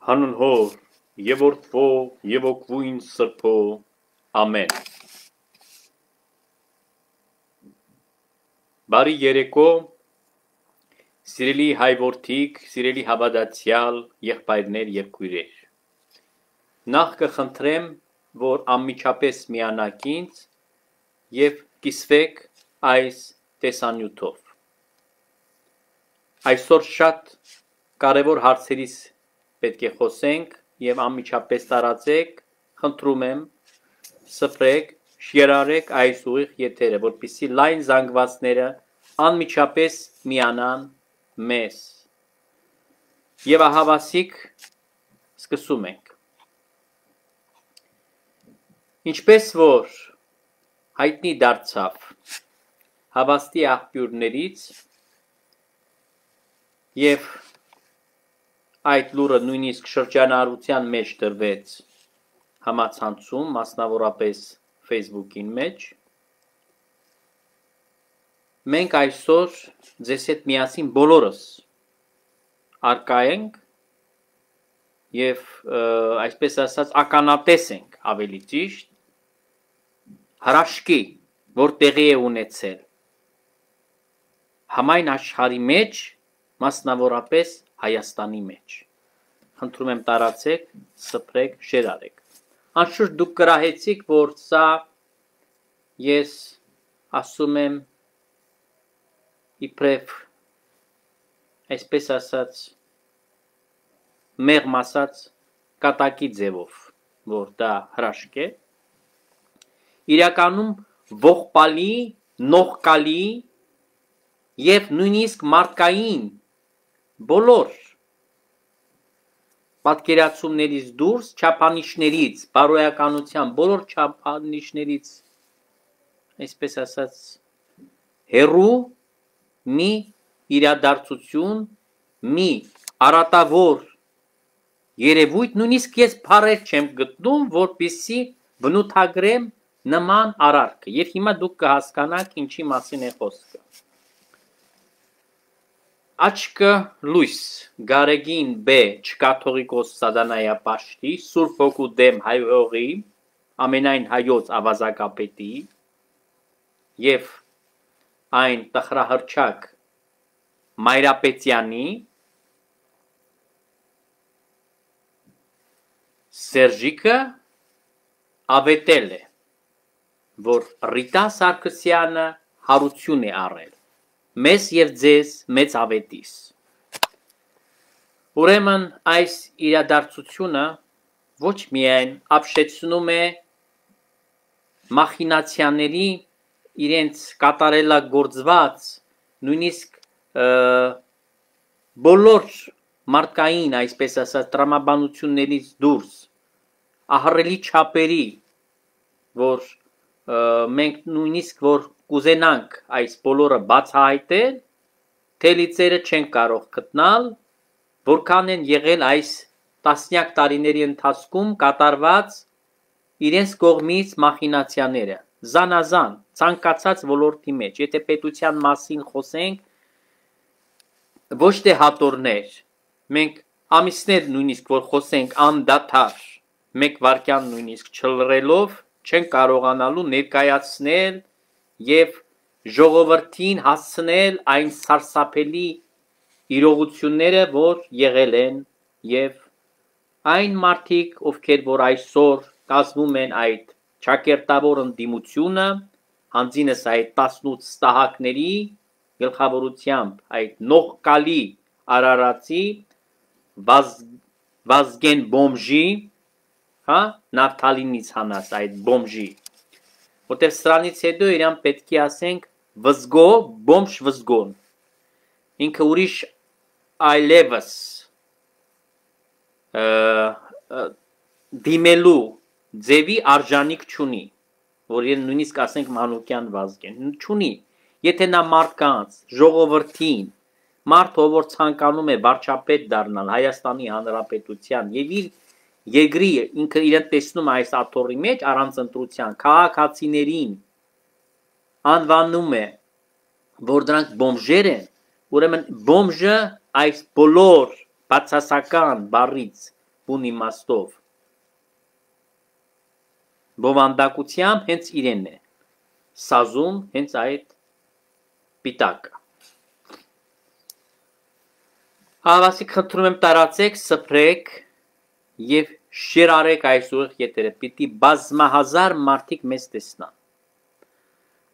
հանուն Հոր եւ Որդվո եւ Օգվույն Սրբո ամեն։ Բարի երեկո, սիրելի հայ որդիկ, սիրելի հավատացյալ եղբայրներ եւ քույրեր։ Նախ կխնդրեմ, որ անմիջապես միանաք ինձ եւ կիսվեք այս տեսանյութով։ Այսօր շատ կարևոր հարցերից պետք է խոսենք եւ անմիջապես տարածեք, խնդրում եմ, սփռեք, շերարեք այս ուղիղ եթերը, որպեսզի լայն զանգվածները անմիջապես միանան մեզ։ Եվ ահավասիկ սկսում ենք։ Ինչպես որ հայտնի դարձավ հավաստի աղբյուրներից եւ այդ լուրը նույնիսկ շրջանառության մեջ դրվեց համացանցում, մասնավորապես Facebook-ին մեջ, մենք այսօր ձեզ հետ միասին բոլորս արկա ենք եւ այսպես ասած ականատես ենք ավելի ճիշտ հրաշքի, որ տեղի է ունեցել համայն աշխարհի մեջ, մասնավորապես Հայաստանի մեջ։ Խնդրում եմ տարածեք, սփռեք, շերարեք։ Անշուշտ դուք կրահեցիք, որ սա ես ասում եմ իբրև այսպես ասած մեղմ ասած կատակի ձևով, որ դա հրաշք է, իրականում ողբալի, նողկալի եւ նույնիսկ մարդկային բոլոր պատկերացումներից դուրս, չափանիշներից, բարոյականության բոլոր չափանիշներից, այսպես ասած, հերու մի իրադարձություն, մի արատավոր երևույթ, նույնիսկ ես բառեր չեմ գտնում, որպեսզի բնութագրեմ նման արարքը, եւ հիմա դուք կհասկանաք ինչի մասին է խոսքը։ Աչքը լույս, Գարեգին B. Չկաթողիկոս Սատանայապաշտի, Սուրբ Հոգու դեմ հայողի, ամենայն հայոց ավազակապետի եւ այն տխրահռչակ Մայրապետյանի Սերժիկը ավետել է, որ Ռիտա Սարգսյանը հարություն է առել մեզ եւ ձեզ մեծ ավետիս։ Ուրեմն այս իրադարձությունը ոչ միայն ապշեցնում է մախինացիաների իրենց կատարելագործված, նույնիսկ բոլոր մարդկային, այսպես ասած, տրամաբանություններից դուրս ահռելի չափերի, որ մենք նույնիսկ որ կուզենանք այս բոլորը բացահայտել, թելիցերը չեն կարող գտնալ, որքան են եղել այս տասնյակ տարիների ընթացքում կատարված իրենց կողմից մախինացիաները, զանազան, ցանկացած ոլորտի մեջ, եթե պետության մասին խոսենք, ոչ թե հատորներ, մենք ամիսներ նույնիսկ որ խոսենք անդադար, մեկ վայրկյան նույնիսկ չլռելով, չեն կարողանալու ներկայացնել եւ ժողովրդին հասցնել այն սարսափելի իրողությունները, որ եղել են եւ այն մարդիկ, ովքեր որ այսօր կազմում են այդ ճակերտավոր ընդդիմությունը, հանձինս այդ 18 ստահակների գլխավորությամբ այդ նողկալի արարածի Վազգեն բոմժի, հա, նավթալինից հանած այդ բոմժի, որտեղ սրանից հետո իրան պետք է ասենք վզգո, բոմժ վզգոն, ինքը ուրիշ այլևս դիմելու ձևի արժանիք չունի, որ իրեն նույնիսկ ասենք մանուկյան Վազգեն, չունի, եթե նա մարդկանց, ժողովրդին, մարդ ով որ ցանկանում է վարչապետ դառնալ Հայաստանի Հանրապետության եւ իր Եգրի ինքը իրեն տեսնում այս աթոռի մեջ առանց ընտրության քաղաքացիներին անվանում է, որ դրանք բոմժեր են, ուրեմն բոմժը այս բոլոր բացասական բառից բուն իմաստով բովանդակությամբ հենց իրեն է սազում հենց այդ պիտակը Հավասիկ խնդրում եմ տարածեք սփրեք եւ շերարեք այսուղ եթերը պիտի բազմահազար մարդիկ մեզ տեսնան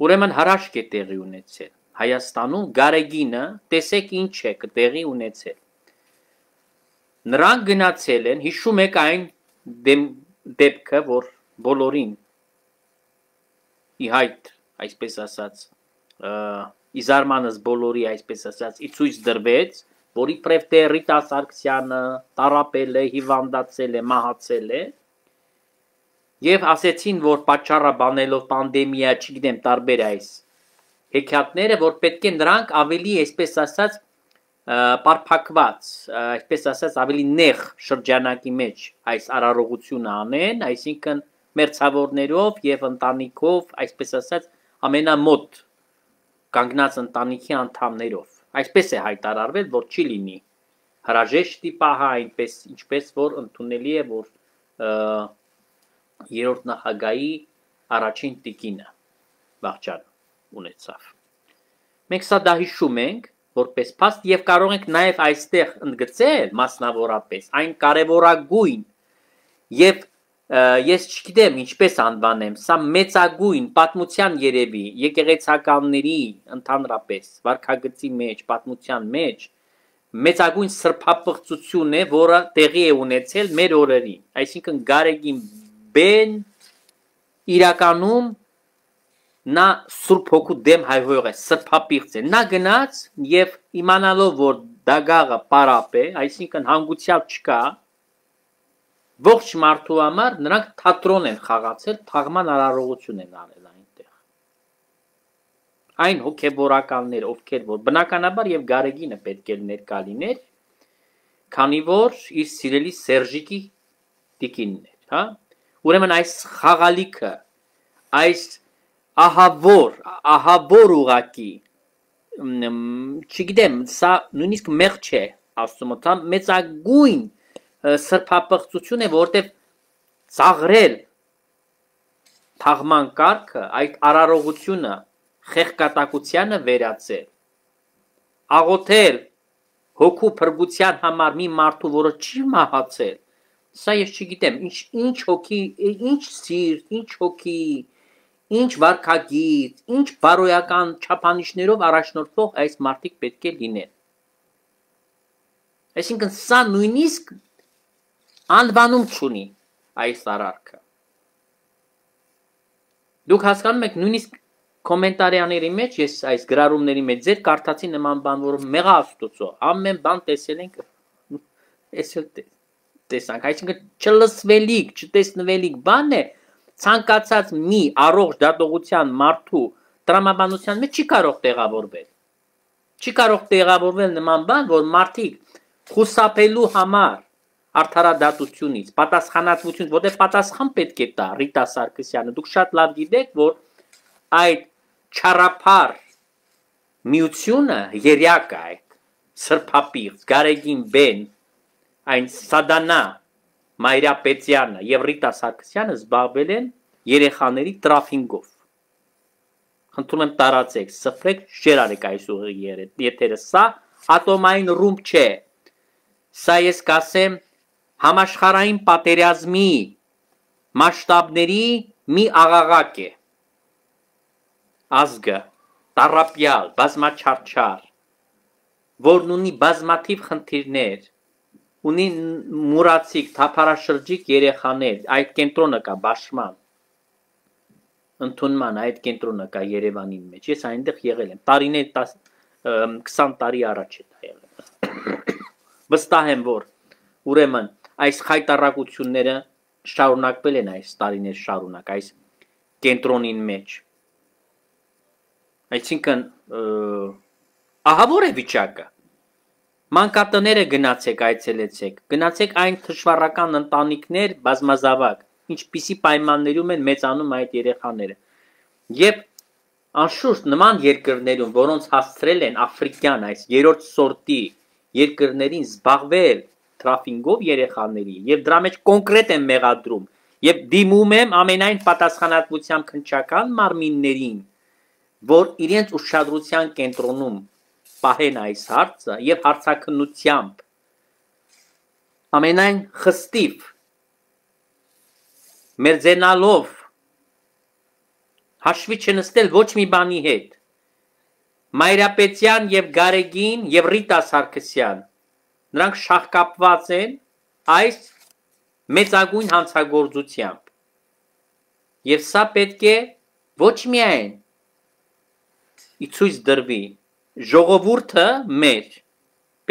Ուրեմն հրաշք է տեղի ունեցել Հայաստանում գարեգինը տեսեք ինչ է տեղի ունեցել Նրանք գնացել են հիշում եք այն դեպքը որ բոլորին իհայտ այսպես ասած իզարմանս բոլորի այսպես ասած իցույց դրվեց որ իբրև թե Ռիտա Սարգսյանը տարապել է հիվանդացել է մահացել է եւ ասեցին որ պատճառը բանելով պանդեմիա չգիտեմ տարբեր այս հեքիաթները որ պետք է նրանք ավելի այսպես ասած պարփակված այսպես ասած ավելի նեղ շրջանակի մեջ այս արարողությունը անեն այսինքն մերձավորներով եւ ընտանիքով այսպես ասած ամենամոտ կանգնած ընտանիքի անդամներով այսպես է հայտարարվել որ չի լինի հրաժեշտի պահը այնպես ինչպես որ ընդունելի է որ երրորդ նախագահի առաջին տիկինը վաղճան ունեցավ մենք սա դա հիշում ենք որպես փաստ եւ կարող ենք նաեւ այստեղ ընդգծել մասնավորապես այն կարեւորագույն եւ ես չգիտեմ ինչպես անվանեմ սա մեծագույն պատմության երևի եկեղեցականների ընդհանրապես վարքագծի մեջ պատմության մեջ մեծագույն սրբապղծություն է որը տեղի է ունեցել մեր օրերին այսինքն Գարեգին բեն իրականում նա Սուրբ Հոգու դեմ հայհոյող է սրբապիղծ է նա գնաց եւ իմանալով որ դագաղը պարապ է այսինքն հանգուցյալ չկա Ողջ մարդու համար նրանք թատրոն են խաղացել, թաղման արարողություն են արել այնտեղ։ Այն հոգեբորականներ, ովքեր որ բնականաբար եւ Գարեգինը պետք է ներկա լիներ, քանի որ իր սիրելի Սերժիկի տիկինն էր, հա։ Ուրեմն այս խաղալիքը, այս ահավոր ուղակի, չգիտեմ, սա նույնիսկ մեղ չէ, ասում եմ, մեծագույն սրբապղծություն է, որտեղ ծաղրել թաղման կարգը, այդ արարողությունը խեղկատակությանը վերածել, աղոթել հոգու փրկության համար մի մարդու, որը չի մահացել, սա ես չգիտեմ, ինչ հոգի, ինչ սիրտ, ինչ հոգի, ինչ վարքագիծ, ինչ բարոյական չափանիշներով առաջնորդվող այս մարդիկ պետք է լինեն։ Այսինքն սա նույնիսկ Անվանում չունի այս արարքը։ Դուք հասկանում եք նույնիսկ կոմենտարիաների մեջ ես այս գրառումների մեջ ձեր կարդացի նման բան որ մեղա աստուծո ամեն բան տեսել ենք այսօր տեսանք այսինքն չլսվելիք չտեսնվելիք բան է ցանկացած մի առողջ դատողության մարդու տրամաբանության մեջ չի կարող տեղավորվել նման բան որ մարդիկ խուսափելու համար արդարադատությունից, պատասխանատվությունից, որտեղ պատասխան պետք է տա Ռիտա Սարգսյանը, դուք շատ լավ գիտեք, որ այդ չարափար միությունը երյակը այդ սրբապիղծ, Գարեգին բեն, այն Սադանա Մայրապետյանը եւ Ռիտա Սարգսյանը զբաղվել են երեխաների տրաֆինգով։ Խնդրում եմ տարածեք, սփրեք, շերարեք այս ուղի եթերը, սա ատոմային ռումբ չէ։ Սա ես կասեմ Համաշխարհային պատերազմի մասշտաբների մի աղաղակ է։ Ազգը տառապյալ, բազմաչարչար, որն ունի բազմաթիվ խնդիրներ, ունի մուրացիկ, թափառաշրջիկ երեխաներ, այդ կենտրոնը կա Բաշման, ընդունման այդ կենտրոնը կա Երևանի մեջ։ Ես այնտեղ եղել եմ, տարիներ 20 տարի առաջ է դա եղել։ Վստահ եմ, որ ուրեմն այս խայտառակությունները շարունակվել են այս տարիներ շարունակ այս կենտրոնին մեջ այսինքն ահավոր է վիճակը մանկատները գնացեք այցելեցեք գնացեք այն թշվառական ընտանիքներ բազմազավակ ինչպիսի պայմաններում են մեծանում այդ երեխաները եւ անշուշտ նման երկրներում որոնց հասցրել են աֆրիկյան այս երրորդ սորտի երկրներին զբաղվել տրաֆինգով երեխաների եւ դրա մեջ կոնկրետ եմ մեղադրում եւ դիմում եմ ամենայն պատասխանատվությամբ քննչական մարմիններին, որ իրենց ուշադրության կենտրոնում պահեն այս հարցը եւ հարցաքննությամբ ամենայն խստիվ մերձենալով հաշվի չնստել ոչ մի բանի հետ Մայրապետյան եւ Գարեգին եւ Ռիտա Սարգսյան նրանք շահկապված են այս մեծագույն հանցագործությամբ եւ սա պետք է ոչ միայն ցույց դրվի ժողովուրդը մեր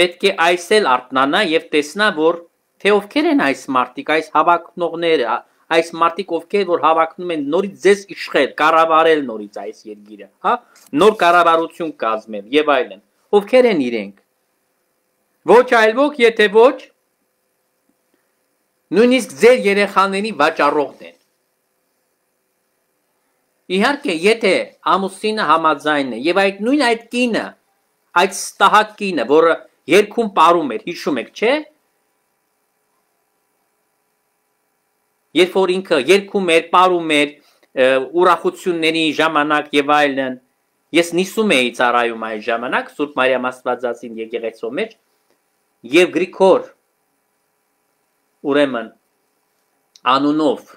պետք է այսել արթնանա եւ տեսնա որ թե ովքեր են այս մարտիկ այս հավակնողները այս մարտիկ ովքեր որ հավակնում են նորից ձեզ իշխել կառավարել նորից այս երկիրը հա նոր կառավարություն կազմել եւ այլն ովքեր են իրենք ոչ այլ ոք եթե ոչ նույնիսկ ձեր երեխաների վաճառողն են իհարկե եթե ամուսինը համաձայն է եւ այդ նույն այդ կինը այդ ստահակ կինը որը երկում ապարում էր հիշում եք չէ Երբ որ ինքը երկում էր, ապարում էր ուրախությունների ժամանակ եւ այլն, ես նիսում էի ծառայում այդ ժամանակ Սուրբ Մարիամ Աստվածածին եկեղեցու մեջ եւ Գրիգոր ուրեմն անունով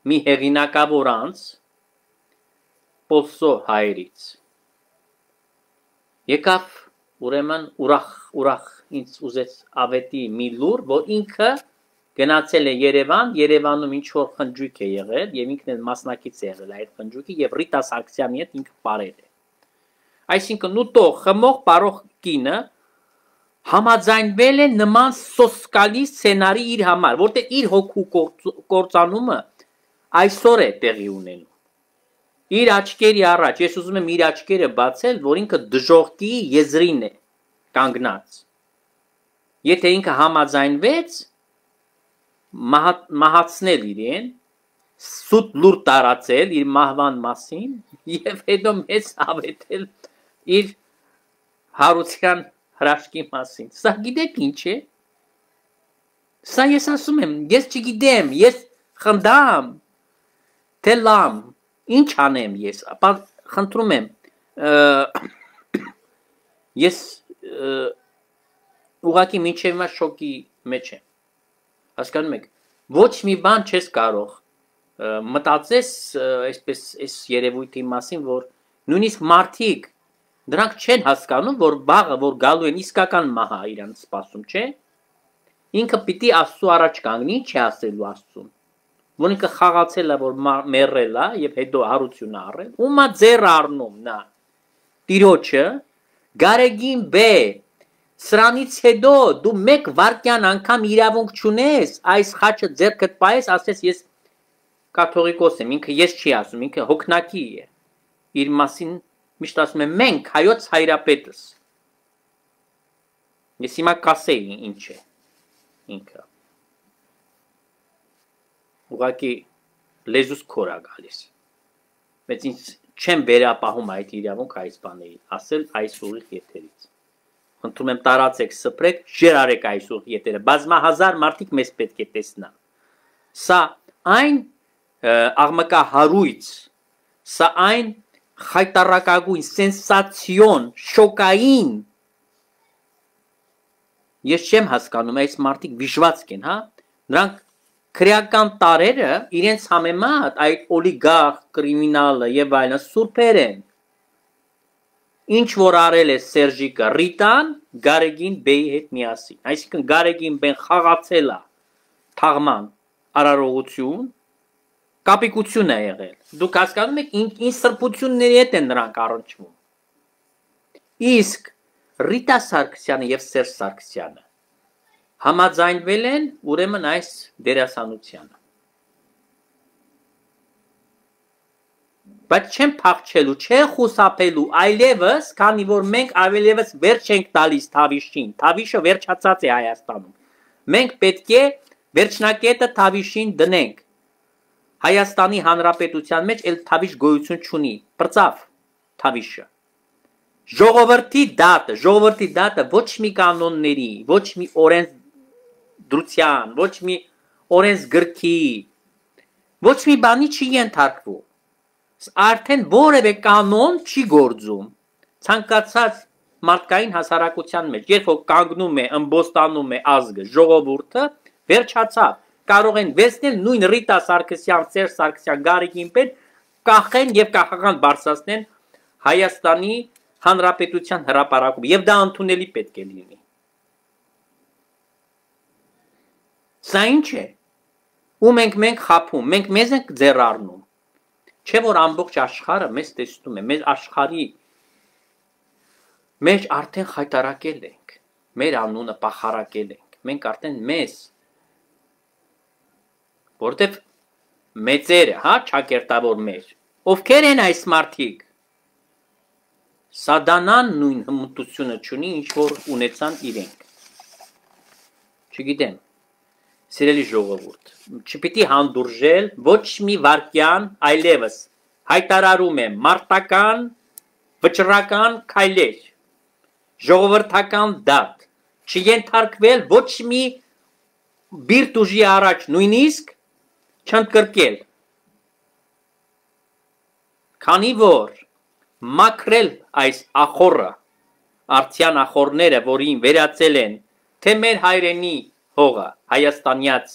մի հեղինակավոր անձ Պոլսո հայրից եկավ ուրեմն ուրախ ինձ ուզեց ավետի մի լուր, որ ինքը գնացել է Երևան, Երևանում ինչ որ խնջույք է եղել եւ ինքն էլ մասնակից է եղել այդ խնջույքի եւ Ռիտա Սարգսյանի հետ ինքը ապարել է։ Այսինքն ուտող, խմող, ապարող կինը համաձայնվել է նման սոսկալի սցենարի իր համար, որտեղ իր հոգու կործանումը այսօր է տեղի ունենում։ Իր աչքերի առաջ, ես ուզում եմ իր աչքերը բացել, որ ինքը դժողքի եզրին է կանգնած։ Եթե ինքը համաձայնվեց մահացնել իրեն, սուտ լուր տարածել իր մահվան մասին եւ հետո մեծ ավետել իր հարության հրաշքի մասին։ Սա գիտեք ինչ է։ Սա ես ասում եմ, ես չգիտեմ, ես խնդամ, թե լամ, ինչ անեմ ես, ապա խնդրում եմ, ես ուղղակի մինչև հիմա շոկի մեջ եմ։ Հասկանում եք, ոչ մի բան չես կարող մտածես այսպես այս երևույթի մասին, որ նույնիսկ մարդիկ դրանք չեն հասկանում, որ բաղը, որ գալու են իսկական մահա իրանց սպասում, չէ։ Ինքը պիտի Աստծո առաջ կանգնի, չի ասելու Աստծուն, որ ինքը խաղացել է, որ մեռել է եւ հետո հարություն առել, ումա ձեռ առնում նա։ Տիրոջը Գարեգին բե Սրանից հետո դու մեկ վարկյան անգամ իրավունք չունես, այս խաչը ձեռքդ պահես, ասես ես կաթողիկոս եմ, ինքը ես չի ասում, ինքը հոգնակի է։ Իր մասին միշտ ասում եմ մենք հայոց հայրապետս։ Ես հիմա կասեի ինչ է ինքը։ Ուղղակի լեզուս քորա գալիս։ Բայց ինձ չեմ վերապահում այդ իրավունք այս բաների, ասել այս ուղիղ եթերից։ Խնդրում եմ տարածեք, սփրեք, շերարեք այս ուղիղ եթերը, բազմահազար մարդիկ մեզ պետք է տեսնան։ Սա այն աղմկահարույց, սա այն խայտառակագույն, սենսացիոն, շոկային։ Ես չեմ հասկանում, այս մարդիկ վիժվածք են, հա։ Նրանք քրեական տարերը իրենց համեմատ այդ օլիգարխ, կրիմինալը եւ այլն սուրբեր են։ Ինչ որ արել է Սերժիկը Ռիտան Գարեգին բեի հետ միասին։ Այսինքն Գարեգին բեն խաղացել է թաղման արարողություն, կապիկություն է եղել։ Դուք հասկանում եք ինչ սրբությունների հետ են նրանք առնչվում։ Իսկ Ռիտա Սարգսյանը եւ Սերժ Սարգսյանը համաձայնվել են ուրեմն այս դերասանությանը։ Բայց չեն փախչելու, չեն խուսափելու, այլևս, քանի որ մենք այլևս վերջ ենք տալիս Թավիշին։ Թավիշը վերջացած է Հայաստանում։ Մենք պետք է վերջնակետը Թավիշին դնենք։ Հայաստանի Հանրապետության մեջ էլ Թավիշ գոյություն չունի։ Պրծավ Թավիշը։ Ժողովրդի դատը ոչ մի կանոնների, ոչ մի օրեն դրության, ոչ մի օրենսգրքի, ոչ մի բանի չի ենթարկվում։ Արդեն որևէ կանոն չի գործում։ Ցանկացած մարդկային հասարակության մեջ, երբ որ կանգնում է, ըմբոստանում է ազգը, ժողովուրդը, վերջացավ։ Կարող են վերցնել նույն Ռիտա Սարգսյան, Սերժ Սարգսյան, Գարեգին Պետ, կախեն եւ կախական բարձրացնեն Հայաստանի Հանրապետության հրապարակում, եւ դա ընդունելի պետք է լինի։ Սա ինչ է։ Ու մենք խափում, մենք մեզ ենք ձեռառնում։ Չէ որ ամբողջ աշխարհը մեզ տեսնում է, մեր աշխարհի մեջ արդեն խայտարակել ենք, մեր անունը պախարակել ենք, մենք արդեն մեզ, որտեվ մեծերը, հա, ճակերտավոր մեր, ովքեր են այս մարդիկ, սադանան նույն հմտությունը չունի, ինչ որ ունեցան իրենք, չգիտեմ, սիրելի ժողովուրդ, չպիտի հանդուրժել, ոչ մի վարկյան այլևս հայտարարում է մարտական, վճռական քայլեր, ժողովրդական դատ, չենթարկվել ոչ մի բիրտ ուժի առաջ նույնիսկ չընդգրկել, քանի որ մաքրել այս ախորը, արդյան ախորները, որին վերածել են, թե մեր հայրենի հողը, հայաստանյաց,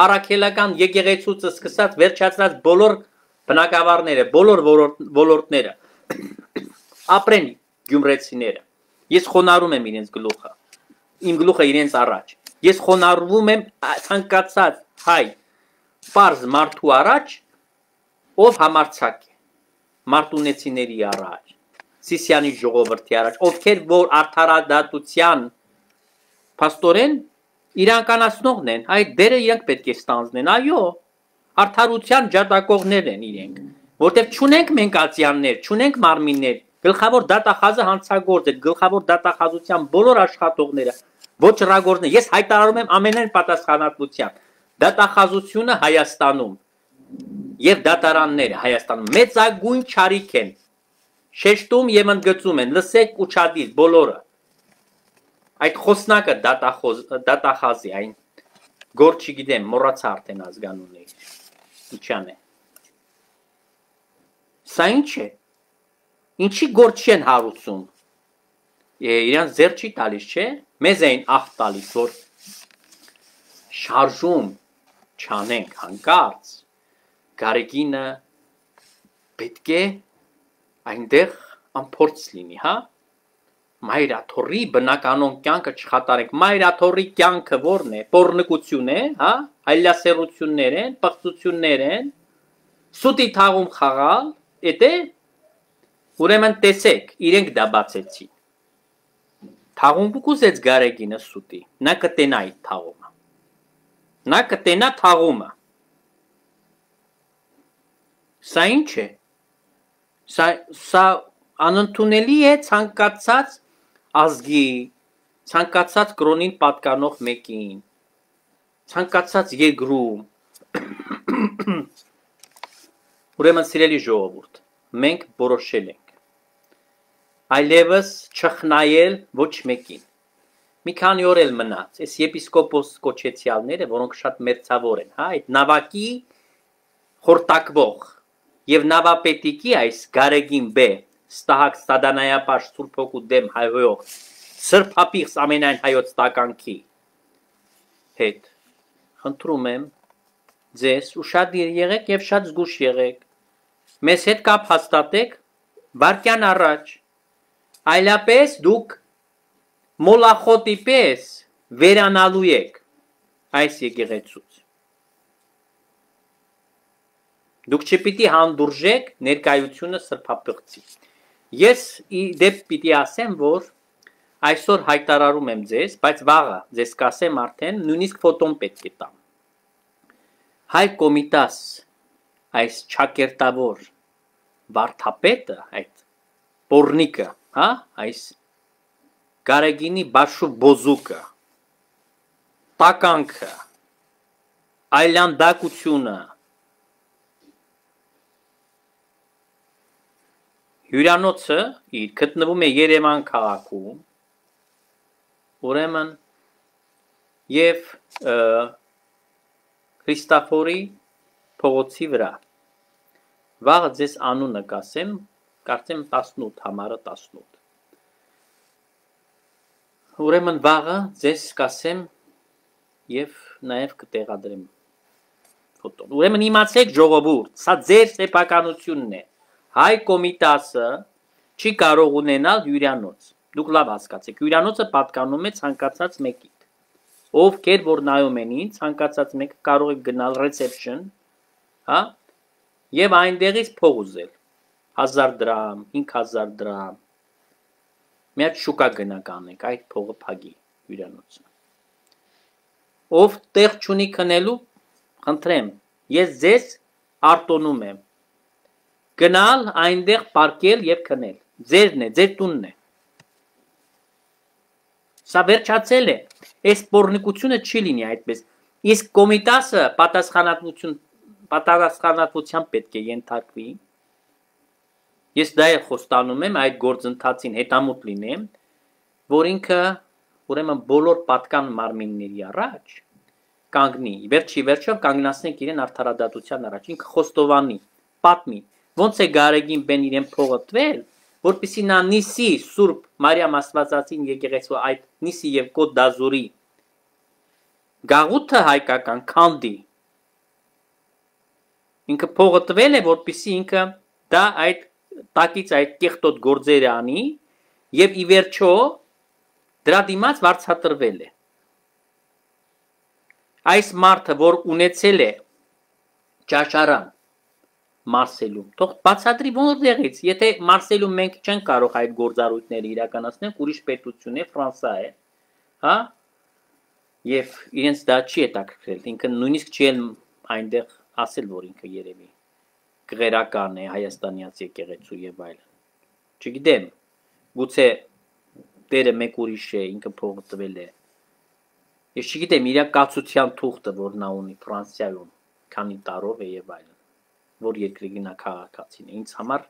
առաքելական եկեղեցուց սկսած վերջացած բոլոր բնակավարները, բոլոր ոլորտները, ապրեն գյումրեցիները, ես խոնարհում եմ իրենց գլուխը, իմ գլուխը իրենց առաջ, ես խոնարհվում եմ ցանկացած հայ, պարզ մարդու առաջ, ով համարձակ է, մարտունեցիների առաջ, Սիսիանի ժողովրդի առաջ, ովքեր որ արդարադատության փաստորեն իրանկանացնողն են, այդ դերը իրենք պետք է ստանձնեն, այո, արդարության ջատագողներ են իրենք, որտեղ չունենք մենք ացիաններ, չունենք մարմիններ, գլխավոր դատախազը հանցագործ է, գլխավոր դատախազության բոլոր աշխատողները, ոչռագործներ, ես հայտարարում եմ ամենայն պատասխանատվությամբ, դատախազությունը Հայաստանում եւ դատարանները Հայաստանում մեծագույն չարիք են, շեշտում եւ ընդգծում են, լսեք ուչադիր բոլորը, այդ խոսնակը դատախազի, այն գործ չգիտեմ, մոռացա արդեն ազգանունը, իչան է, սա ինչ է, ինչի գործ չեն հարուցում, իրանց ձեռ չի տալիս, չէ, մեզ էին աղ տալիս, որ շարժում չանենք հանկարծ, Գարեգինը պետք է այնտեղ անփորձ լինի, հա, Մայրաթորի բնականոն կյանքը չխատարենք, Մայրաթորի կյանքը որն է, պոռնկություն է, հա, այլասերություններ են, պղծություններ են, սուտի թաղում խաղալ, էդ է, ուրեմն տեսեք, իրենք դա բացեցին, թաղում կուզեց Գարեգինը սուտի, նա կտենա այդ թաղումը, նա կտենա թաղումը, սա ինչ է, սա անընդունելի է ցանկացած ազգի, ցանկացած կրոնին պատկանող մեկին, ցանկացած երկրում, ուրեմն սիրելի ժողովուրդ, մենք որոշել ենք, այլևս չխնայել ոչ մեկին, մի քանի օր էլ մնաց, այս եպիսկոպոս կոչեցյալները, որոնք շատ մերձավոր են, հա, այդ նավակի խորտակվող եւ նավապետիկի այս Գարեգին Բ, Ստահակ Սադանայապաշ Սուրբ Հոգու դեմ հայհոյող սրբապիղծ ամենայն հայոց տականքի հետ խնդրում եմ ձեզ ուշադիր եղեք եւ շատ զգուշ եղեք մեզ հետ կապ հաստատեք վարկյան առաջ այլապես դուք մոլախոտի պես վերանալու եք այս եկեղեցուց Դուք չպիտի հանդուրժեք ներկայությունը սրբապղծի։ Ես դեպ պիտի ասեմ, որ այսօր հայտարարում եմ ձեզ, բայց վաղը ձեզ կասեմ արդեն, նույնիսկ ֆոտոն պետք է տամ։ Հայ կոմիտաս այս ճակերտավոր վարդապետը, այդ պորնիկը, հա, այս Գարեգինի բաշու բոզուկը, տականքը, այլանդակությունը Հյուրանոցը իր գտնվում է Երևան քաղաքում, ուրեմն եւ Քրիստոֆորի փողոցի վրա։ Վաղը ձեզ անունը կասեմ, կարծեմ 18 համարը 18։ Ուրեմն վաղը ձեզ կասեմ եւ նաեւ կտեղադրեմ ֆոտոն։ Ուրեմն իմացեք ժողովուրդ, սա ձեր սեփականությունն է։ Հայ կոմիտասը չի կարող ունենալ հյուրանոց։ Դուք լավ հասկացեք, հյուրանոցը պատկանում է ցանկացած մեկին։ Ովքեր որ նայում են ինձ, ցանկացած մեկը կարող է գնալ reception, հա, եւ այնտեղից փող ուզել 1000 դրամ, 5000 դրամ։ Մի հատ շուկա գնանք անենք, այդ փողը փագի հյուրանոցը։ Ով տեղ չունի քնելու, խնդրեմ, ես ձեզ արտոնում եմ։ Գնալ այնտեղ պարկել եւ քնել։ Ձերն է, ձեր տունն է։ Սա վերջացել է։ Այս սպորնիկությունը չի լինի այդպես։ Իսկ կոմիտասը պատասխանատվությամբ պետք է ենթարկվի։ Ես դա էլ խոստանում եմ այդ գործընթացին հետամուտ լինեմ, որ ինքը ուրեմն բոլոր պատկան մարմինների առաջ կանգնի։ Վերջի վերջով կանգնացնենք իրեն արդարադատության առաջ։ Ինքը խոստովանի, պատմի, ոնց է Գարեգին բեն իրեն փողը տվել, որպեսզի նա Նիսի Սուրբ Մարիամ Աստվածածին եկեղեցու այդ Նիսի եւ Կոտ դազուրի գաղութը հայկական քանդի։ Ինքը փողը տվել է, որպեսզի ինքը դա այդ տակից այդ կեղտոտ գործերը անի եւ ի վերջո դրա դիմաց վարձատրվել է։ Այս մարդը, որ ունեցել է ճաշարան Մարսելում, թող բացատրի որտեղից, եթե Մարսելում մենք չենք կարող այդ գործառույթները իրականացնել, ուրիշ պետություն է, Ֆրանսա է, հա, եւ իրենց դա չի հետաքրքրել, ինքը նույնիսկ չի այնտեղ ասել, որ ինքը երևի գերական է Հայաստանյաց եկեղեցու եւ այլն։ Չգիտեմ, գուցե դերը մեկ ուրիշ է, ինքը փողը տվել է։ Ես չգիտեմ իր կացության թուղթը, որ նա ունի Ֆրանսիայում, քանի տարով է եւ այլն, որ երկրի գնա քաղաքացին է։ Ինձ համար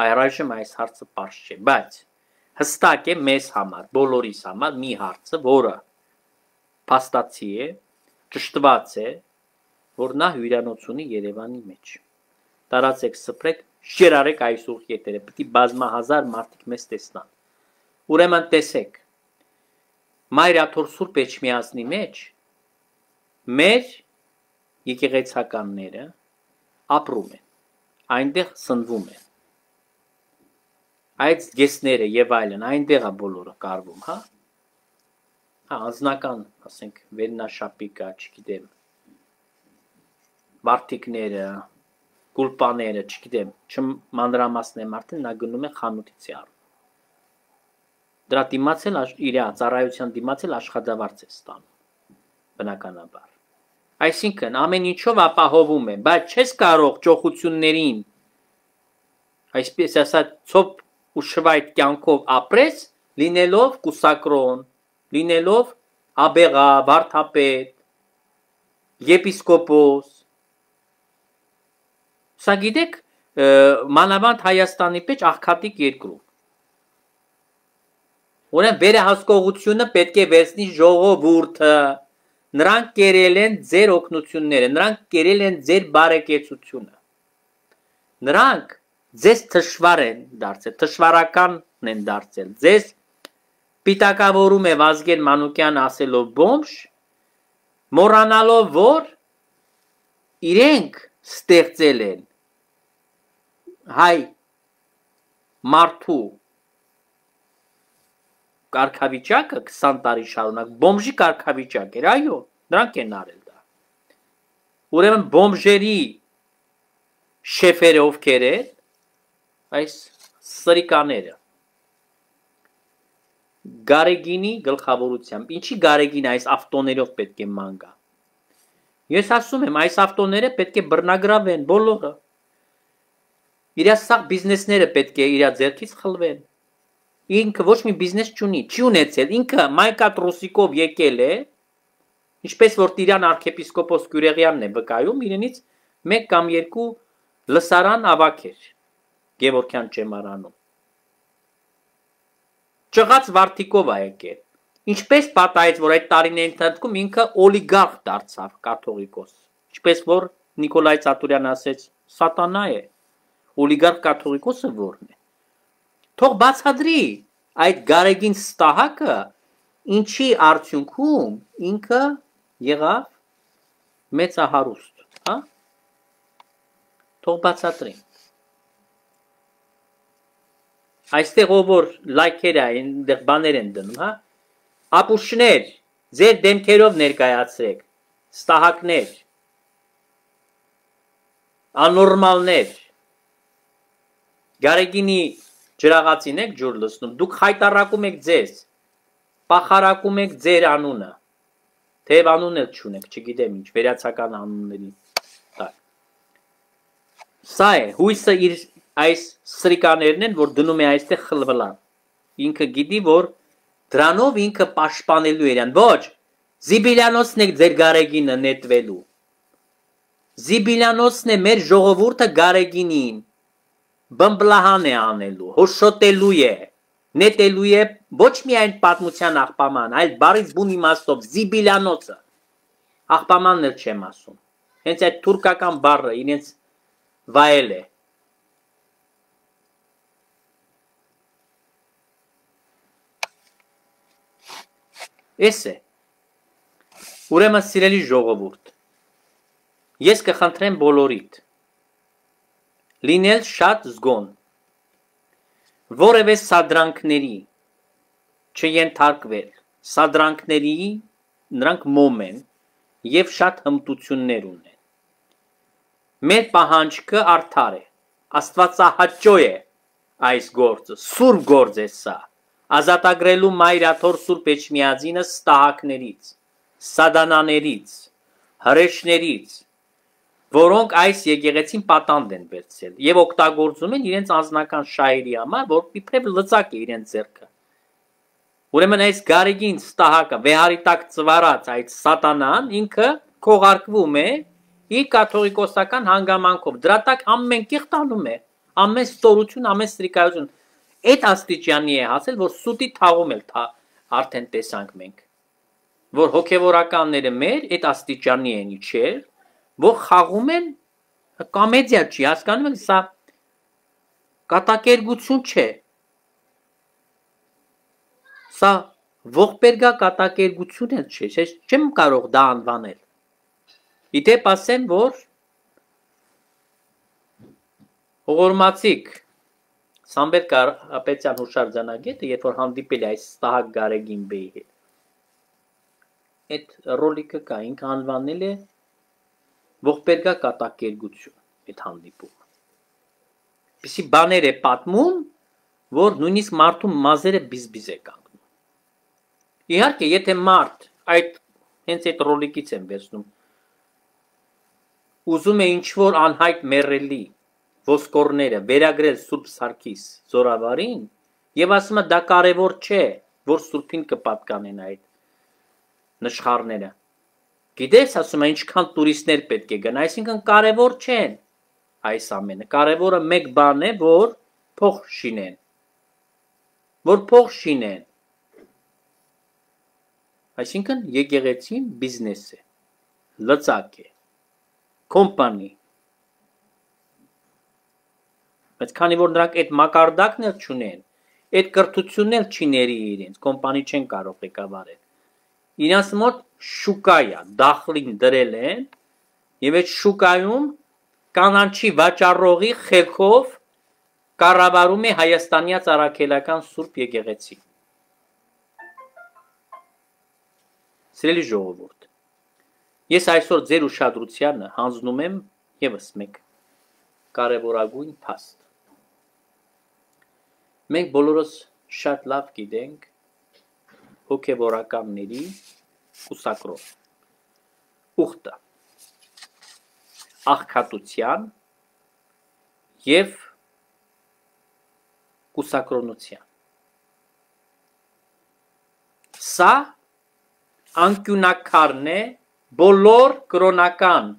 այրայժմ այս հարցը պարզ չէ, բայց հստակ է մեզ համար, բոլորիս համար մի հարցը, որը փաստացի է, ճշտված է, որ նա հյուրանոց ունի Երևանի մեջ։ Տարածեք, սփռեք, շերարեք այս ուղ եթերը, պետք է բազմահազար մարդիկ մեզ տեսնան։ Ուրեմն տեսեք, Մայրաթոր Սուրբ Էջմիածնի մեջ մեր եկեղեցականները ապրում են, այնտեղ սնվում են։ Այդ զգեստները եւ այլն, այնտեղ է բոլորը կարվում, հա։ Հա, անձնական, ասենք, վերնաշապիկա, չգիտեմ, վարդիկները, գուլպաները, չգիտեմ, չմանրամասնեմ արդեն, նա գնում է խանութից է առնում։ Դրա դիմաց էլ իր ծառայության դիմաց էլ աշխատավարձ է ստանում, բնականաբար։ Այսինքն ամեն ինչով ապահովում է, բայց չես կարող ճոխություններին, այսպես ասած, ցոփ ու շվայտ կյանքով ապրես, լինելով կուսակրոն, լինելով աբեղա, վարդապետ, եպիսկոպոս։ Սա գիտեք, մանավանդ Հայաստանի մեջ աղքատիկ երկրում։ Ուրեմն վերահսկողությունը պետք է վերցնի ժողովուրդը, նրանք կերել են ձեր օգնությունները, նրանք կերել են ձեր բարեկեցությունը։ Նրանք ձեզ թշվար են դարձել, թշվարականն են դարձել, ձեզ պիտակավորում է Վազգեն Մանուկյան ասելով բոմժ, մոռանալով որ իրենք ստեղծել են հայ մարդու կարգավիճակը 20 տարի շարունակ բոմժի կարգավիճակ էր, այո, նրանք են արել դա։ Ուրեմն բոմժերի շեֆերը ովքեր են, այս սրիկաները Գարեգինի գլխավորությամբ, ինչի Գարեգին այս ավտոներով պետք է ման գա։ Ես ասում եմ, այս ավտոները պետք է բռնագրավեն բոլորը։ Իրա սաղ բիզնեսները պետք է իրա ձեռքից խլվեն։ Ինքը ոչ մի բիզնես չունի, չի ունեցել, ինքը Մայկատ Ռուսիկով եկել է, ինչպես որ Տիրան arczepiskopos Գյուրեղյանն է վկայում, իրենից 1 կամ 2 լսարան ավագեր Գևորգյան ճեմարանում։ Ճղած վարդիկով է եկել։ Ինչպես պատահեց, որ այդ տարիների ընթացքում ինքը օլիգարխ դարձավ կաթողիկոս։ Ինչպես որ Նիկոլայ Ծատուրյան ասեց, սատանա է։ Օլիգարխ կաթողիկոսը որն է։ Թող բացադրի այդ գարեգին ստահակը ինչի արդյունքում ինքը եղավ մեծահարուստ, հա։ Թող բացատրի։ Այստեղ ով որ լայքեր այնտեղ բաներ են դնում, հա։ Ապուշներ, ձեր դեմքերով ներկայացրեք, ստահակներ, անորմալներ, գարեգինի ջրաղացին եք ջուր լցնում, դուք խայտարակում եք ձեզ, պախարակում եք ձեր անունը, թեև անուն էլ չունեք, չգիտեմ ինչ, վերացական անունների տակ։ Սա է, հույսը իր այս սրիկաներն են, որ դնում է այստեղ խլվլան, ինքը գիտի, որ դրանով ինքը պաշտպանելու իրան, ոչ, Զիբիլյանոցն է ձեր գարեգինը նետվելու, Զիբիլյանոցն է մեր ժողովուրդը գարեգինին, բմբլահան է անելու, հոշոտելու է, նետելու է ոչ միայն պատմության աղբաման, այլ բառից բուն իմաստով Զիբիլյանոցը, աղբամանն էլ չեմ ասում, հենց այդ թուրքական բառը իրենց վայել է, Էս է, ուրեմն սիրելի ժողովուրդ, ես կխնդրեմ բոլորիդ, լինել շատ զգոն, որևէ սադրանքների չենթարկվել, սադրանքների նրանք մոմ են և շատ հմտություններ ունեն, մեր պահանջքը արդար է, աստվածահաճո է այս գործը, սուրբ գործ է սա, ազատագրելու մայրաթոր Սուրբ Էջմիածինը ստահակներից, սադանաներից, հրեշներից, որոնք այս եկեղեցին պատանդ են վերցրել եւ օգտագործում են իրենց անձնական շահերի համար, որ իբրև լծակ է իրենց ձեռքը։ Ուրեմն այս գարեգին ստահակը վեհարի տակ ծվարած այդ սատանան ինքը քողարկվում է իր կաթողիկոսական հանգամանքով։ Դրա տակ ամեն կեղտ անում է, ամեն ստորություն, ամեն ստրիկայություն։ Այդ աստիճանի է հասել, որ սուտի թաղում էլ արդեն տեսանք մենք, որ հոգևորականները մեր այդ աստիճանի են իջել, որ խաղում են կոմեդիա չի, հասկանում եք, սա կատակերգություն չէ, սա ողբերգա կատակերգություն էլ չէ, ես չեմ կարող դա անվանել, իդեպ ասեմ, որ հողորմացիկ Սամբետ Կարապետյան հուշարձանագետը, երբ որ հանդիպել է այս ստահակ գարեգին բեի հետ, այդ ռոլիկը կա, ինքը անվանել է ողբերգա կատակերգություն, այդ հանդիպումը։ Պիսի բաներ է պատմում, որ նույնիսկ մարդու մազերը բիզբիզ է կանգնում։ Իհարկե, եթե մարդ հենց այդ ռոլիկից եմ վերցնում, ուզում է ինչ-որ անհայտ մեռելի ոսկորները վերագրել Սուրբ Սարգիս զորավարին եւ ասում է դա կարեւոր չէ, որ Սուրբին կպատկանեն այդ նշխարները։ Գիտես, ասում է ինչքան տուրիստներ պետք է գան, այսինքն կարեւոր չեն այս ամենը։ Կարևորը մեկ բան է, որ փող շինեն։ Որ փող շինեն։ Այսինքն եկեղեցին բիզնես է, լծակ է, կոմպանի։ Բայց քանի որ նրանք այդ մակարդակն էլ չունեն, այդ կրթությունն էլ չի ների իրենց, կոմպանի չեն կարող ղեկավարել։ Իրանց մոտ շուկա է, դախլին դրել են, եւ այդ շուկայում կանանչի վաճառողի խելքով կառավարում է Հայաստանյա Ծառաքելական Սուրբ եկեղեցի։ Սիրելի ժողովուրդ, ես այսօր ձեր ուշադրությանը հանձնում եմ եւս մեկ կարևորագույն փաստ։ Մենք բոլորս շատ լավ գիտենք հոգևորականների կուսակրով, ուխտը, աղքատության և կուսակրոնության։ Սա անկյունակարն է բոլոր կրոնական,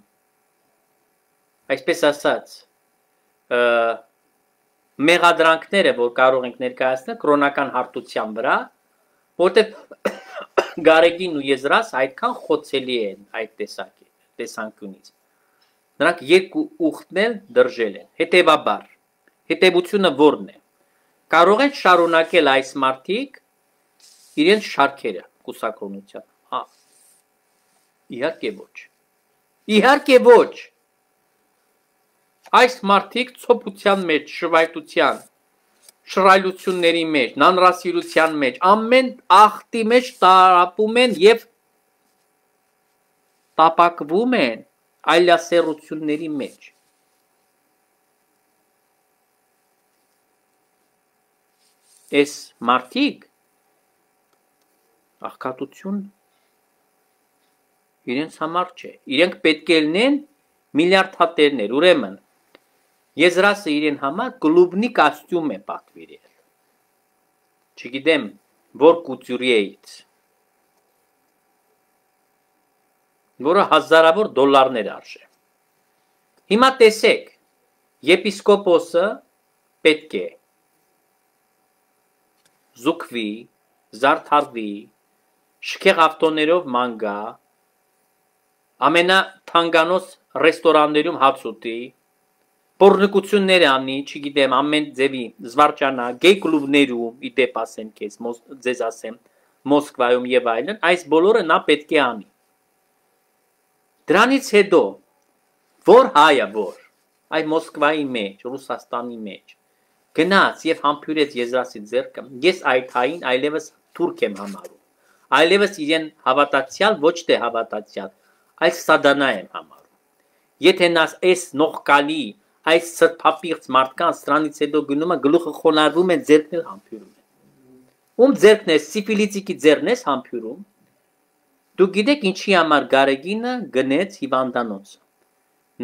այսպես ասած, մեղադրանքները, որ կարող ենք ներկայացնել կրոնական հարթության վրա, որտեղ Գարեգին ու Եզրաս այդքան խոցելի են այդ տեսանկյունից։ Նրանք երկու ուխտն էլ դրժել են։ Հետևաբար, հետևությունը որն է։ Կարող են շարունակել այս մարդիկ իրենց շարքերը կուսակրոնության։ Իհարկե ոչ։ Իհարկե ոչ։ Այս մարդիկ ցոփության մեջ, շվայտության, շռայլությունների մեջ, նանրասիրության մեջ, ամեն ախտի մեջ տարապում են եւ տապակվում են այլասերությունների մեջ։ Այս մարդիկ աղքատություն իրենց համար չէ։ Իրենք պետք է լինեն միլիարդատերներ, ուրեմն Եզրասը իրեն համար կլուբնի կոստյում է պատվիրել։ Չգիտեմ, որ կուտյուրիեից, որը հազարավոր դոլարներ արժե։ Հիմա տեսեք, եպիսկոպոսը պետք է զուգվի, զարդարվի, շքեղ ավտոներով ման գա, ամենաթանկանոց ռեստորաններում հաց ուտի, Պոռնկություններ անի, չգիտեմ, ամեն ձևի զվարճանա, գեյ կլուբներում, ի դեպ ասեմ քեզ, ձեզ ասեմ, Մոսկվայում եւ այլն, այս բոլորը նա պետք է անի։ Դրանից հետո, որ հայը, որ այ Մոսկվայի մեջ, Ռուսաստանի մեջ, գնաց եւ համբյուրեց Եզրասի ձեռքը, ես այդ հային այլևս թուրք եմ համարում, այլևս իրեն հավատացյալ, ոչ թե հավատացյալ, այլ սատանա եմ համարում։ Եթե նա այս նողկալի այս սրբապիղծ մարդկանց սրանից հետո գնում է գլուխը խոնարհվում է ձեռքն էլ համբյուրում է։ Ում ձեռքն է սիֆիլիտիկի ձեռն է համբյուրում։ Դուք գիտեք ինչի համար Գարեգինը գնեց հիվանդանոց։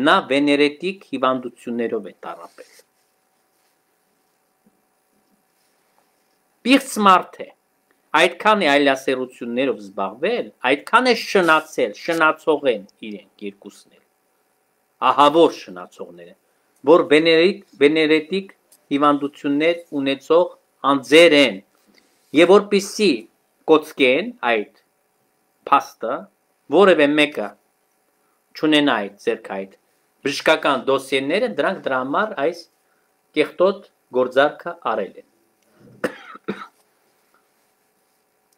Նա վեներետիկ հիվանդություններով է տառապել։ Պիղծ մարդ է։ Այդքան է այլասերություններով զբաղվել, այդքան է շնացել, շնացող են իրենք երկուսն էլ։ Ահավոր շնացողներ են, որ վեներետիկ հիվանդություններ ունեցող անձեր են, եւ որպիսի կոծկեն այդ փաստը, որևէ մեկը չունենա այդ ձեռք այդ բժշկական դոսիեները, դրանք դրա համար այս կեղտոտ գործարքը արել են։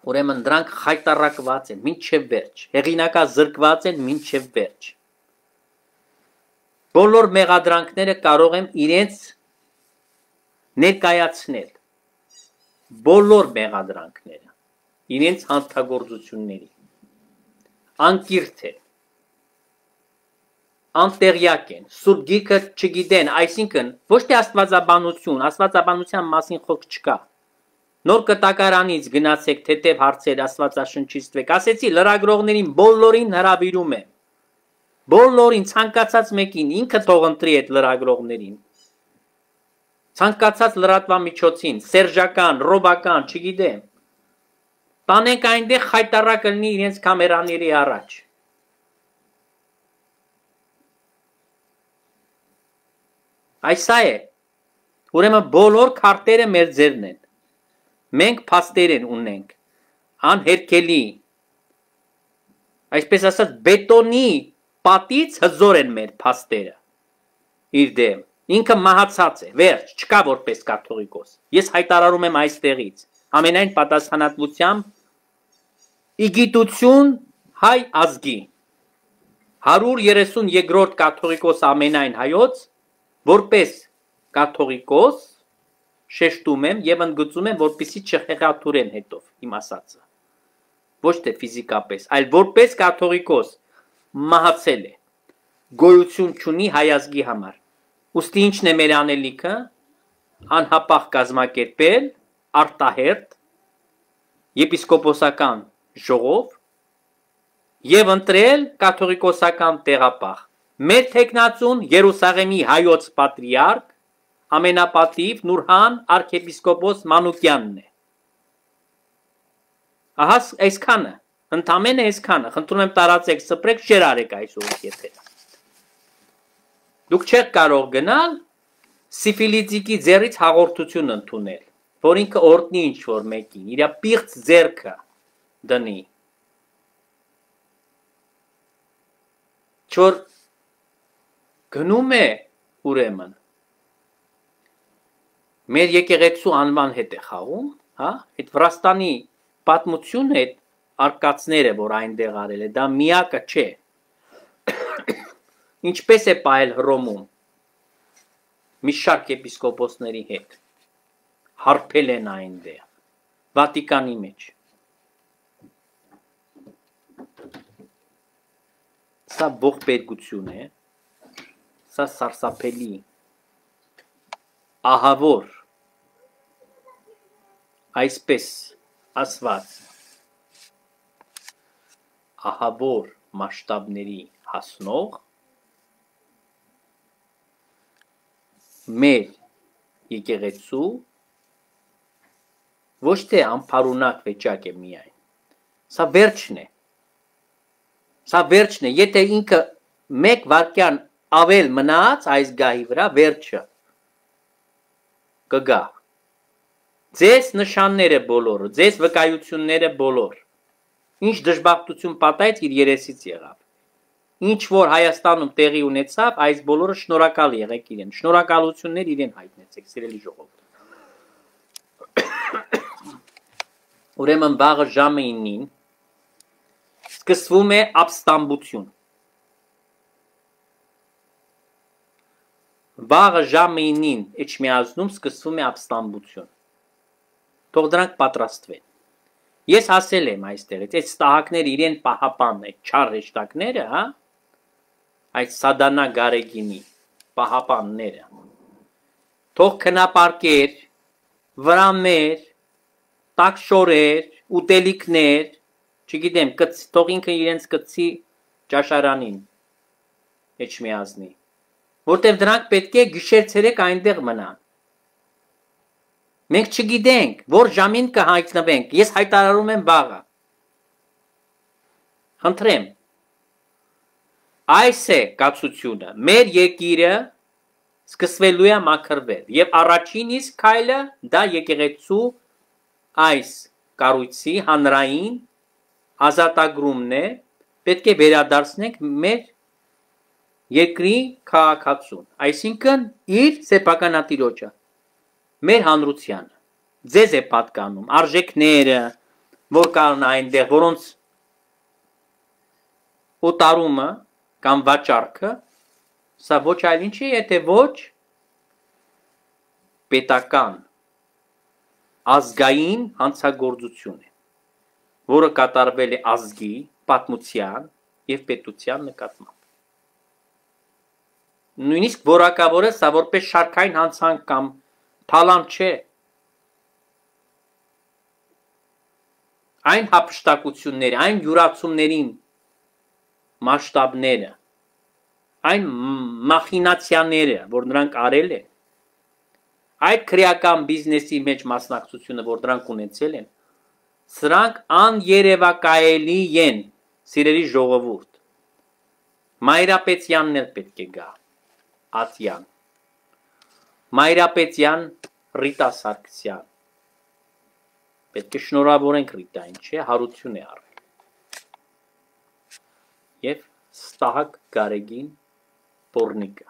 Ուրեմն դրանք խայտարակված են մինչև վերջ, հեղինակազրկված են մինչև վերջ։ Բոլոր մեղադրանքները կարող եմ իրենց ներկայացնել, բոլոր մեղադրանքները, իրենց հանցագործությունների, անկիրթ են, անտեղյակ են, սուրբ գիրքը չգիտեն, այսինքն ոչ թե աստվածաբանություն, աստվածաբանության մասին խոսք չկա։ Նոր կտակարանից գնացեք թեթև հարցեր աստվածաշնչից տվեք, ասեցի լրագրողներին բոլորին հրավիրում եմ, բոլորին ցանկացած մեկին, ինքը թող ընտրի այդ լրագրողներին, ցանկացած լրատվամիջոցին, սերժական, ռոբական, չգիտեմ, տանենք այնտեղ խայտարակը լինի իրենց կամերաների առաջ։ Այս է, ուրեմն բոլոր քարտերը մեր ձեռն են, մենք փաստեր ունենք, անհերքելի, այսպես ասած բետոնի պատից հզոր են մեր փաստերը, իր դեմ, ինքը մահացած է, վերջ, չկա որպես կաթողիկոս, ես հայտարարում եմ այստեղից, ամենայն պատասխանատվությամբ, իգիտություն հայ ազգի, 132-րդ կաթողիկոս ամենայն հայոց, որպես կաթողիկոս, շեշտում եմ եւ ընդգծում եմ, որպեսզի չխեղաթուրեն հետով իմ ասածը։ Ոչ թե ֆիզիկապես, այլ որպես կաթողիկոս մահացել է։ Գոյություն չունի հայ ազգի համար։ Ուստի ինչն է մեր անելիքը, անհապաղ կազմակերպել, արտահերտ, եպիսկոպոսական ժողով եւ ընտրել կաթողիկոսական տեղապահ։ Մեր թեկնածուն Երուսաղեմի հայոց պատրիարք ամենապատիվ Նուրհան arczepiskopos Մանուկյանն է։ Ահա այսքանը, ընդամենը այսքանը, խնդրում եմ տարածեք, սպրեք, շեր արեք այսօր եթերը։ Դուք չեք կարող գնալ սիֆիլիտիկի ձեռից հաղորդություն ընդունել, որ ինքը օրտնի ինչ-որ մեկին, իր պիղծ ձեռքը դնի, Չոր գնում է ուրեմն մեր եկեղեցու անվան հետ է խաղում, հա, այդ Վրաստանի պատմությունը, այդ արկածները, որ այնտեղ արել է, դա միակը չէ։ Ինչպես է պահել Հռոմում մի շարք եպիսկոպոսների հետ, հարբել են այնտեղ, Վատիկանի մեջ։ Սա ողբերգություն է, սա սարսափելի, ահավոր, այսպես ասված, ահավոր մասշտաբների հասնող մեր եկեղեցու ոչ թե անփարունակ վիճակ է միայն, սա վերջն է, եթե ինքը մեկ վարքյան ավել մնաց այս գահի վրա, վերջը կգա, ձեզ նշանները բոլորը, ձեզ վկայությունները բոլոր, ինչ դժբախտություն պատահեց իր երեսից եղավ, ինչ որ Հայաստանում տեղի ունեցավ, այս բոլորը շնորհակալ եղեք իրեն, շնորհակալություններ իրեն հայտնեցեք, սիրելի ժողովուրդ։ Ուրեմն վաղը ժամը 9-ին սկսվում է ապստամբություն։ Վաղը ժամը 9-ին Էջմիածնում սկսվում է ապստամբություն։ Թող դրանք պատրաստվեն։ Ես ասել եմ այստեղից, այդ ստահակները իրեն պահապանն է, չար հեշտակները, հա, այդ սադանա գարեգինի պահապանները, թող քնապարկեր, վրաններ, տաքշորեր, ուտելիքներ, չգիտեմ, թող ինքը իրենց կծի ճաշարանին, Էջմիածնի, որտև դրանք պետք է գիշեր-ցերեկ այնտեղ մնան։ Մենք չգիտենք, որ ժամին կհայտնվենք, ես հայտարարում եմ վաղը։ Խնդրեմ, այս է կացությունը, մեր երկիրը սկսվելու է մաքրվել, եւ առաջին իսկ քայլը դա եկեղեցու այս կառույցի հանրային ազատագրումն է, պետք է վերադարձնենք մեր երկրի քաղաքացուն, այսինքն իր սեփականատիրոջը, մեր հանրությանը, ձեզ է պատկանում, արժեքները, որ կան այնտեղ, որոնց օտարումը կամ վաճառքը, սա ոչ այլ ինչ է, եթե ոչ պետական ազգային հանցագործություն է, որը կատարվել է ազգի, պատմության եւ պետության նկատմամբ։ Նույնիսկ որակավոր է սա որպես շարքային հանցանք կամ թալանտ չէ։ Այն հափշտակությունները, այն յուրացումներին մասշտաբները, այն մախինացիաները, որ նրանք արել են, այդ քրեական բիզնեսի մեջ մասնակցությունը, որ դրանք ունեցել են, սրանք աներևակայելի են, սիրելի ժողովուրդ։ Մայրապետյանն էլ պետք է գա, Ատյան, Մայրապետյան Ռիտա Սարգսյան, պետք է շնորհավորենք Ռիտային, չէ, հարություն է արել, և Ստահակ Գարեգին Պոռնիկը,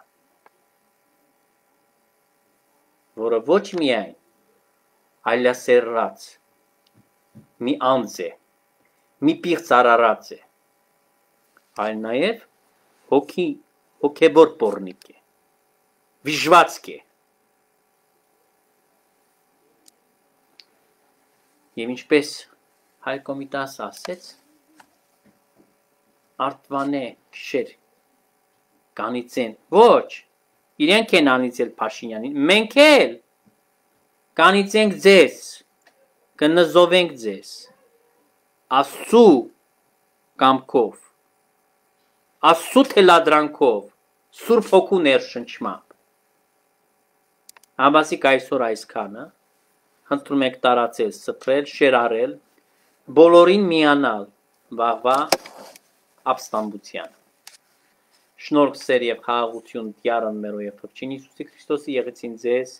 որը ոչ միայն այլասերրած մի անձ է, մի պիղծ արարած է, այլ նաև հոգևոր պոռնիկ է, վիժվածք է, և ինչպես Հայկ Կոմիտասը ասեց, Արտվանե շեր կանիծեն, ոչ, իրենք են անիծել Փաշինյանին, մենք էլ կանիծենք ձեզ, կնզովենք ձեզ, Աստծու կամքով, Աստծու թելադրանքով, Սուրբ Հոգու ներշնչմամբ, Համբասիկ այսօր այսքանը, խնդրում եք տարածել, սփռել, շերարել, բոլորին միանալ վաղվա ապստամբության։ Շնորհք, սեր եւ խաղաղություն Տյառն մերո եւ Փրկչին Հիսուսի Քրիստոսի եղեցին ձեզ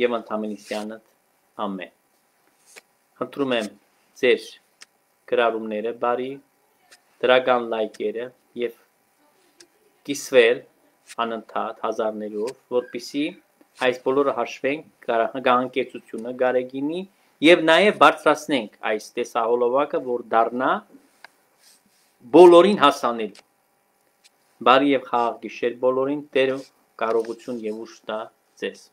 եւ ընդհանրությանդ ամեն։ Խնդրում եմ ձեր գրառումները բարի, դրական լայքերը եւ կիսվել անընդհատ հազարներով, որպիսի այս բոլորը հաշվենք գահանկեցությունը գարեգինի եւ նաեւ բարձրացնենք այս տեսահոլովակը, որ դառնա բոլորին հասանելի։ Բարի եւ խաղաղ գիշեր բոլորին, Տերը կարողություն եւ ուժ տա ձեզ։